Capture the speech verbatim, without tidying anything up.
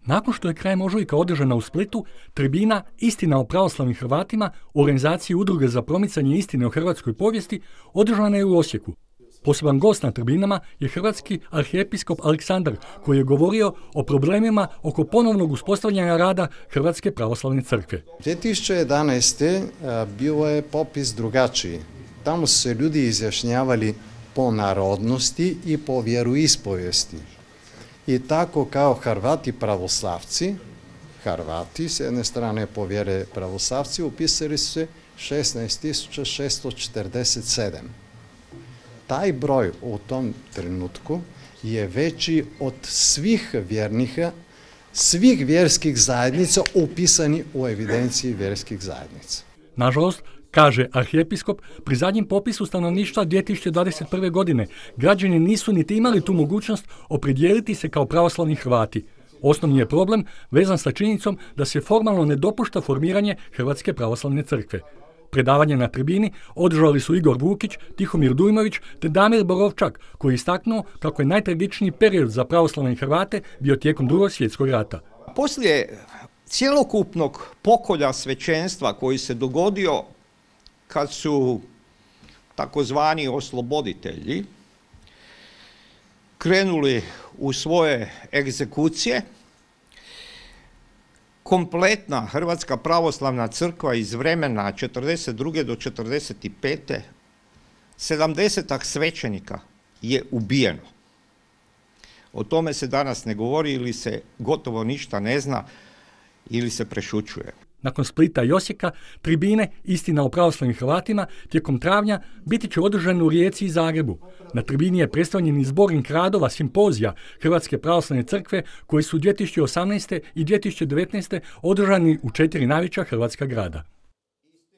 Nakon što je krajem ožujka održana u Splitu, tribina Istina o pravoslavnim Hrvatima u organizaciji Udruge za promicanje istine o hrvatskoj povijesti održana je u Osijeku. Poseban gost na tribinama je hrvatski arhijepiskop Aleksandar, koji je govorio o problemima oko ponovnog uspostavljanja rada Hrvatske pravoslavne crkve. dvije tisuće jedanaeste. bio je popis drugačiji. Tamo su se ljudi izjašnjavali po narodnosti i po vjeroispovijesti. I tako kao Hrvati pravoslavci, Hrvati s jedne strane po vjere pravoslavci, upisali su se šesnaest tisuća šesto četrdeset sedam. Taj broj u tom trenutku je veći od svih vjernika, svih vjerskih zajednica upisani u evidenciji vjerskih zajednica. Nažalost, kaže arhijepiskop, pri zadnjem popisu stanovništva dvije tisuće dvadeset prve. godine građani nisu niti imali tu mogućnost opredijeliti se kao pravoslavni Hrvati. Osnovni je problem vezan sa činjenicom da se formalno ne dopušta formiranje Hrvatske pravoslavne crkve. Predavanje na tribini održali su Igor Vukić, Tihomir Dujmović te Damir Borovčak, koji je istaknuo kako je najtragičniji period za pravoslavne Hrvate bio tijekom Drugog svjetskog rata. Poslije cjelokupnog pokolja svećenstva koji se dogodio kad su takozvani osloboditelji krenuli u svoje egzekucije, kompletna Hrvatska pravoslavna crkva iz vremena četrdeset druge do četrdeset pete. sedamdesetak svećenika je ubijeno. O tome se danas ne govori ili se gotovo ništa ne zna ili se prešućuje. Nakon Splita i Osijeka, tribine Istina o pravoslavnim Hrvatima tijekom travnja biti će održane u Rijeci i Zagrebu. Na tribini je predstavljen i zbornik radova simpozija Hrvatske pravoslavne crkve koji su dvije tisuće osamnaeste. i dvije tisuće devetnaeste. održani u četiri najveća hrvatska grada.